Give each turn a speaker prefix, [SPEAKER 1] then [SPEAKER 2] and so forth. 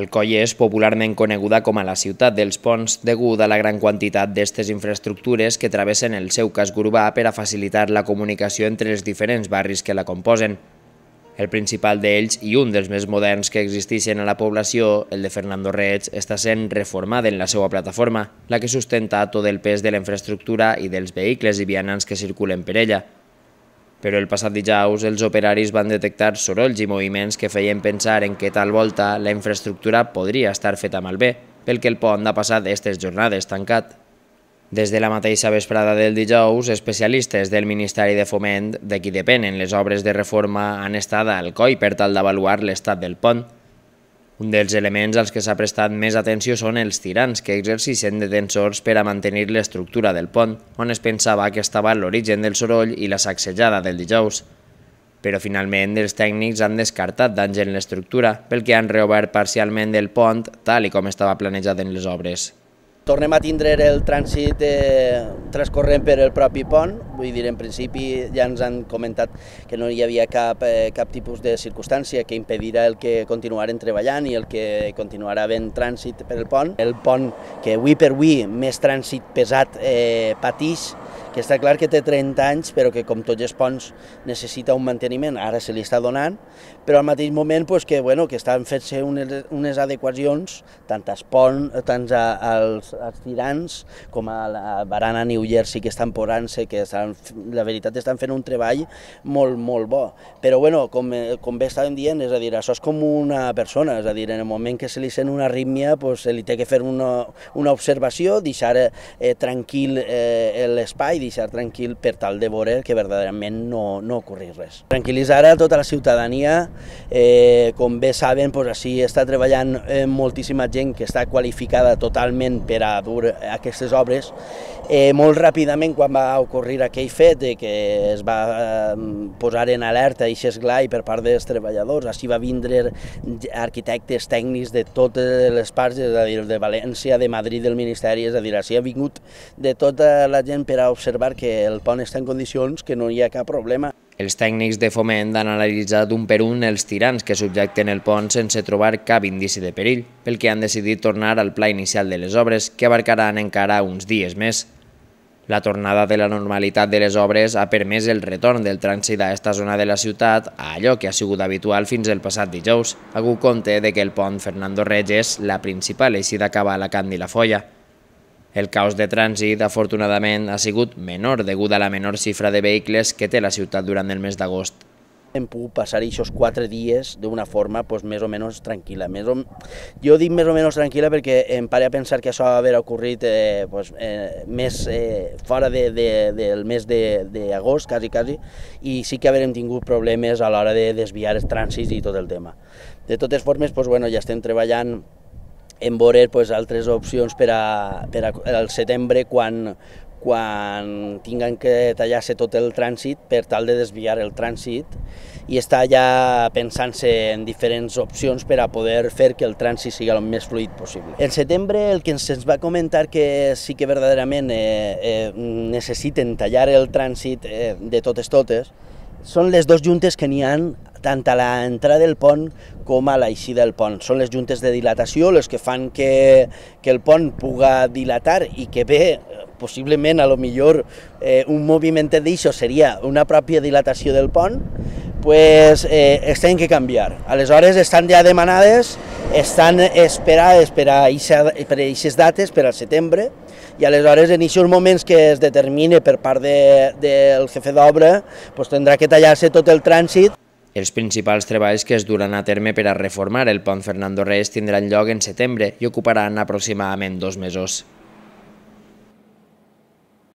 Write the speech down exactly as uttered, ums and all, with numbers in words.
[SPEAKER 1] Alcoi és popularment coneguda com a la ciutat dels ponts degut a la gran quantitat d'aquestes infraestructures que travessen el seu casc urbà per a facilitar la comunicació entre els diferents barris que la composen. El principal d'ells i un dels més moderns que existeixen a la població, el de Fernando Reig, està sent reformada en la seva plataforma, la que sustenta tot el pes de la infraestructura i dels vehicles i vianants que circulen per ella. Però el passat dijous els operaris van detectar sorolls i moviments que feien pensar en que tal volta la infraestructura podria estar feta malbé, pel que el pont ha passat aquestes jornades tancat. Des de la mateixa vesprada del dijous, especialistes del Ministeri de Foment, de qui depenen les obres de reforma, han estat a Alcoi per tal d'avaluar l'estat del pont. Un dels elements als que s'ha prestat més atenció són els tirants que exerceixen de tensors per a mantenir l'estructura del pont, on es pensava que estava l'origen del soroll i la sacsejada del dijous. Però finalment els tècnics han descartat danys en l'estructura, pel que han reobert parcialment el pont tal i com estava planejat en les obres.
[SPEAKER 2] Tornem a tindre el trànsit eh, transcorrent per el propi pont, vull dir, en principi ja ens han comentat que no hi havia cap, eh, cap tipus de circumstància que impedirà el que continuaren treballant i el que continuarà havent trànsit per el pont. El pont que avui per avui més trànsit pesat eh, patix, que està clar que té trenta anys, però que com tots els ponts necessita un manteniment, ara se li està donant, però al mateix moment pues, que, bueno, que estan fent-se unes, unes adequacions, tant als ponts, tant als, als tirants, com a la barana New Jersey que estan posant-se, que estan, la veritat estan fent un treball molt, molt bo. Però bueno, com, com bé estàvem dient, és a dir, això és com una persona, és a dir, en el moment que se li sent una arrítmia, pues, se li té que fer una, una observació, deixar eh, tranquil eh, l'espai, deixar tranquil per tal de veure que verdaderament no, no ocorri res. Tranquil·litzar a tota la ciutadania, eh, com bé saben, pues, així està treballant eh, moltíssima gent que està qualificada totalment per a dur aquestes obres. Eh, molt ràpidament, quan va ocorrir aquell fet de que es va eh, posar en alerta i esglai per part dels treballadors, així va vindre arquitectes tècnics de totes les parts, és a dir, de València, de Madrid, del Ministeri, és a dir, així ha vingut de tota la gent per a observar que el pont està en condicions, que no hi ha cap problema.
[SPEAKER 1] Els tècnics de Foment han analitzat un per un els tirants que subjecten el pont sense trobar cap indici de perill, pel que han decidit tornar al pla inicial de les obres, que abarcaran encara uns dies més. La tornada de la normalitat de les obres ha permès el retorn del trànsit a aquesta zona de la ciutat a allò que ha sigut habitual fins el passat dijous, hagut compte de que el pont Fernando Reig és la principal eixida cap a Alacant i la Foia. El caos de trànsit, afortunadament, ha sigut menor degut a la menor xifra de vehicles que té la ciutat durant el mes d'agost.
[SPEAKER 2] Hem pogut passar aquests quatre dies d'una forma pues, més o menys tranquil·la. Més o... Jo dic més o menys tranquil·la perquè em pare a pensar que això va haver ocorrit eh, pues, eh, més eh, fora de, de, del mes d'agost, quasi, quasi, i sí que haurem tingut problemes a l'hora de desviar els trànsits i tot el tema. De totes formes, pues, bueno, ja estem treballant en veure pues, altres opcions per, a, per a, al setembre quan, quan tinguin que tallar-se tot el trànsit per tal de desviar el trànsit i està ja pensant-se en diferents opcions per a poder fer que el trànsit sigui el més fluid possible. En setembre el que ens va comentar que sí que verdaderament eh, eh, necessiten tallar el trànsit eh, de totes totes són les dues juntes que n'hi ha tant a l'entrada del pont com a l'eixida del pont. Són les juntes de dilatació les que fan que, que el pont puga dilatar i que bé, possiblement, a lo millor eh, un moviment d'això seria una pròpia dilatació del pont, pues, eh, es tenen que canviar. Aleshores estan ja demanades, estan esperades per a aquestes dates, per al setembre, i aleshores en aquests moments que es determine per part de, del jefe d'obra, pues, tindrà que tallar-se tot el trànsit.
[SPEAKER 1] Els principals treballs que es duran a terme per a reformar el pont Fernando Reig tindran lloc en setembre i ocuparan aproximadament dos mesos.